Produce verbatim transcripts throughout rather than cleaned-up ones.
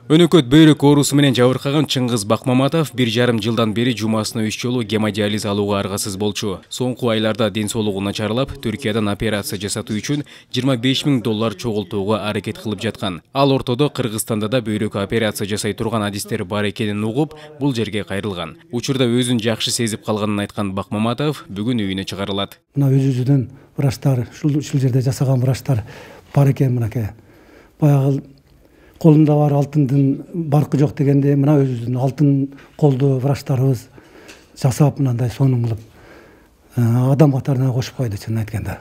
Өнөкөт бөйрөк оорусу менен жабыркаган Чыңгыз Бакмаматов бир жарым жылдан бери жумасына үч жолу гемодиализ алууга аргасыз болчу. Соңку айларда ден соолугу начарлап, Түркиядан операция жасатуу үчүн жыйырма беш миң доллар чогултууга аракет кылып жаткан. Ал ортодо Кыргызстанда да бөйрөк операция жасай турган адистер бар экенин угуп, бул жерге кайрылган. Учурда өзүн жакшы сезип калганын айткан Бакмаматов бүгүн үйүнө чыгарылат. Мына өзүбүздөн врачтар, ушул жерде жасаган врачтар бар экен мынакей. Баягы колунда бар алтындын баркы жок дегенде, мына өзүбүздүн алтын колдуу врачтарыбыз жасап мындай сонун кылып адам катарына кошуп койду чынын айтканда.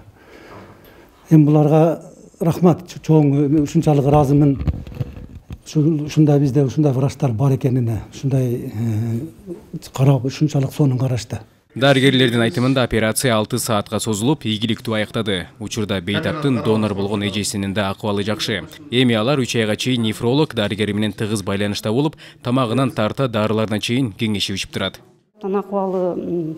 Эми буларга рахмат, чоң ушунчалык ыраазымын. Ушундай бизде ушундай врачтар бар экенине, ушундай карап, ушунчалык сонун карашты. Дарыгерлердин айтымында операция алты саатка созулуп, ийгиликтүү аяктады. Учурда бейтаптын донор болгон эжесинин да акыбалы жакшы. Эми алар үч айга чейин нефролог дарыгери менен тыгыз байланышта болуп, тамагынан тарта дарыларына чейин кеңешип турат. Акыбалы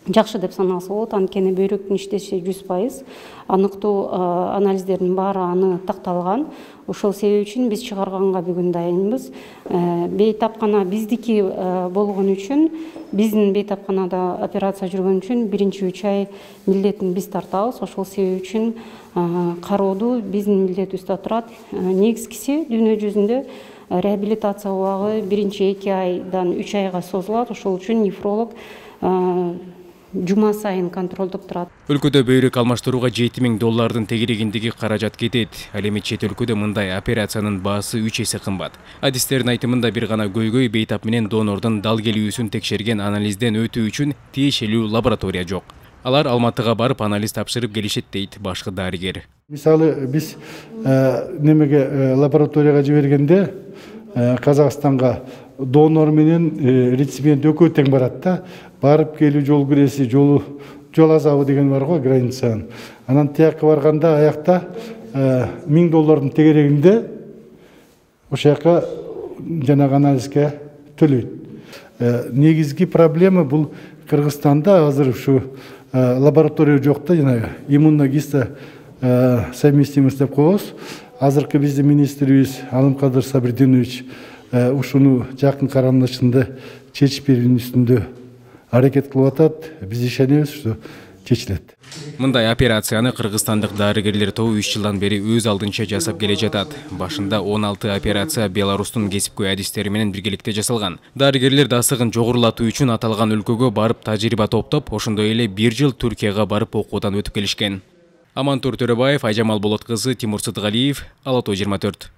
жакшы деп саналса болот, анткени бөйрөктүн иштеши жүз пайыз. Аныктоо анализдердин баары аны такталган. Ошол себеп үчүн биз чыгарганга бүгүн дайынбыз. Бейтапкана биздики болгон үчүн, биздин бейтапканада операция жүргөн үчүн биринчи үч ай милдетин биз тартабыз. Ошол себеп үчүн кароодуу биздин милдетибизде турат. Негизгиси дүйнө жүзүндө реабилитация убагы биринчи эки айдан үч айга созулат. Ошол үчүн нефролог жума сайын контролдоп турат. Өлкөдө бөйрөк алмаштырууга жети миң доллардын тегерегиндеги каражат кетет. Ал эми чет өлкөдө мындай операциянын баасы үч эсе кымбат. Адистердин айтымында бир гана көйгөй бейтап менен донордун дал келүүсүн текшерген анализден өтүү үчүн тиешелүү лаборатория жок. Алар Алматыга барып анализ тапшырып келишет дейт башкы дарыгер. Мисалы биз немеге лабораторияга жибергенде Казакстанга донор менен реципиент экөө тең барат да. Барып келүү жол киреси, жолу жол азабы деген бар го, границанын. Анан тияққа барганда аякта миң доллардын тегерегинде ошол жака жанагы анализге төлөйт. Негизги проблема бул Кыргызстанда азыр ушу лаборатория жок да, жанагы иммуногисто совместимость деп коебуз. Азыркы биздин министрибиз Алымкадыр Сабирдинович ушуну жакын карандашында чечип берүүнүн үстүндө аракет кылып атат. Биз ишенебиз, что чечилет. Мындай операцияны кыргызстандык дарыгерлер тобу үч жылдан бери өз алдынча жасап келе жатат. Башында он алты операция Беларустун кесипкөй адистери менен биргеликте жасалган. Дарыгерлер дасыгын жогорулатуу үчүн аталган өлкөгө барып тажрыйба топтоп, ошондой эле бир жыл Түркияга барып окуудан өтүп келишкен. Амантур Төрөбаев, Айжамал Болот кызы, Тимур Сыдыгалиев, Ала Тоо жыйырма төрт.